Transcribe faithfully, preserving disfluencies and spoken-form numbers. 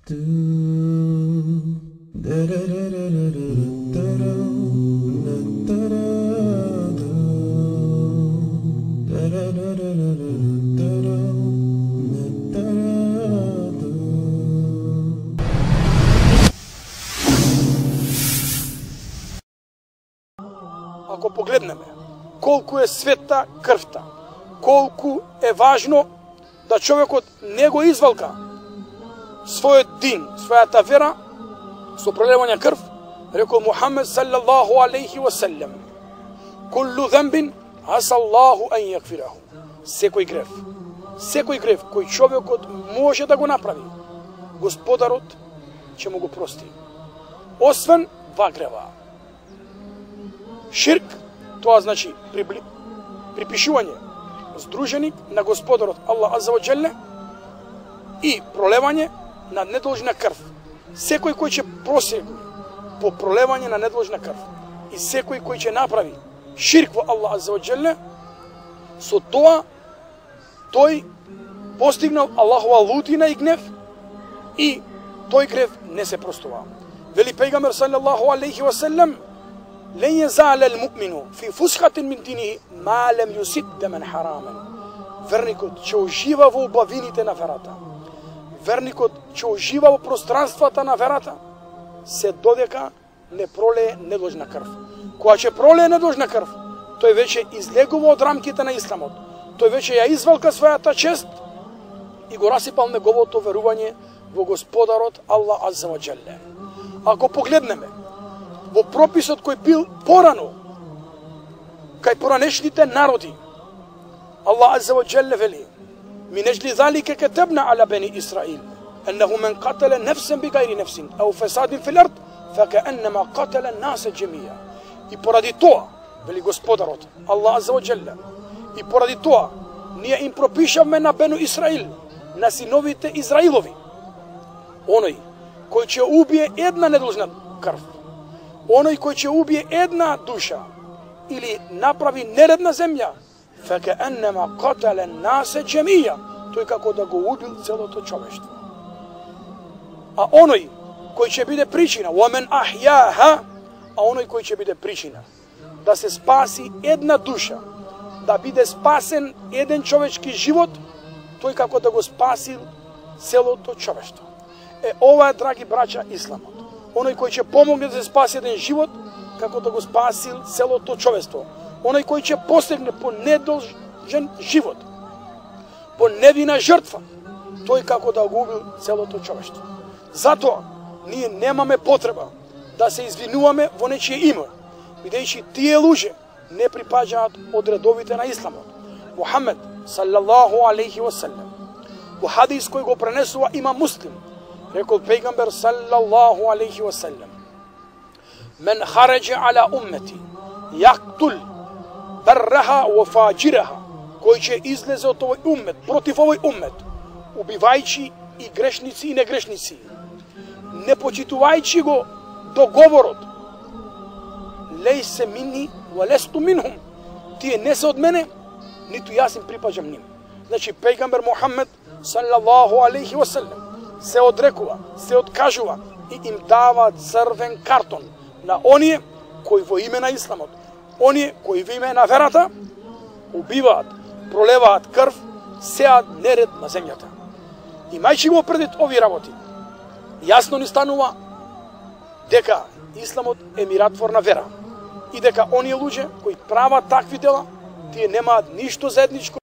Ако погледнеме колку е света крвта, колку е важно да човекот не го извалка својот дин, својата вера со пролевање крв, рекол Мухамед саллаллаху алейхи ва саллем: "Куллу замбин асаллаху ан јагфираху." Секој грев, секој грев кој човекот може да го направи, Господарот ќе му го прости. Освен два грева. Ширк, тоа значи прибли... припишување здруженик на Господарот Аллах азза ва джелле и пролевање на недолжна крв. Секој кој ќе просегне по пролевање на недолжна крв и секој кој ќе направи ширк во Аллах азза ва джелле, со тоа тој постигнал Аллахова лутина и гнев и тој грев не се простува. Вели пејгамбер саллаллаху алейхи ва саллем: "Лен језале л-муъмину фи фусхатин мин динихи ма лем јусиб демен харамен." Верникот ќе ужива во убавините на верата. Верникот ќе ужива во пространствата на верата, се додека не пролее недолжна крв. Кога ќе пролее недолжна крв, тој веќе излегува од рамките на исламот. Тој веќе ја извалка својата чест и го расипал неговото верување во Господарот Аллах азза ва джелле. Ако погледнеме во прописот кој бил порано кај поранешните народи, Аллах азза ва джелле вели: "Мин аџли залика катабна ала бани Исраил аннаху мен катала нефсен бигайри нефсин ау фасадин фил ард факааннама катала наса џемија." И поради тоа, вели Господарот Аллах азза ва джелле, и поради тоа ние им пропишавме на бену Исраил, на синовите Израилови, оној кој ќе убие една недолжна крв, оној кој ќе убие една душа или направи неред на земја, факааннама катала наса џемија, тој како да го убил целото човештво. А оној кој ќе биде причина, وَمَنْ أَحْيَاهَا, а оној кој ќе биде причина да се спаси една душа, да биде спасен еден човечки живот, тој како да го спасил целото човештво. Е, ова е, драги браќа, исламот. Оној кој ќе помогне да се спаси еден живот, како да го спасил целото човештво. Оној кој ќе постигне по недолжен живот, по невина жртва, тој како да го убил целото човештво. Затоа, ние немаме потреба да се извинуваме во нечие име, бидејќи тие луѓе не припаѓаат од редовите на исламот. Мухамед саллаллаху алейхи ва саллем во хадис кој го пренесува има Муслим, рекол пејгамбер саллаллаху алейхи ва саллем: "Мен хараџа ала уммети јактул барраха ва фаџираха", кој ќе излезе од овој уммет, против овој уммет, убивајќи и грешници и негрешници, не почитувајќи го договорот, лейсе минни ва лесту минхум, тие не се од мене, ниту јас им припаѓам ним. Значи пејгамбер Мухамед саллаллаху алейхи ва саллем се одрекува, се откажува и им дава црвен картон на оние кои во име на исламот, оние кои во име на верата убиваат, пролеваат крв, сеат неред на земјата. Имајќи го предвид овие работи, јасно ни станува дека исламот е миротворна вера и дека оние луѓе кои прават такви дела, тие немаат ништо заедничко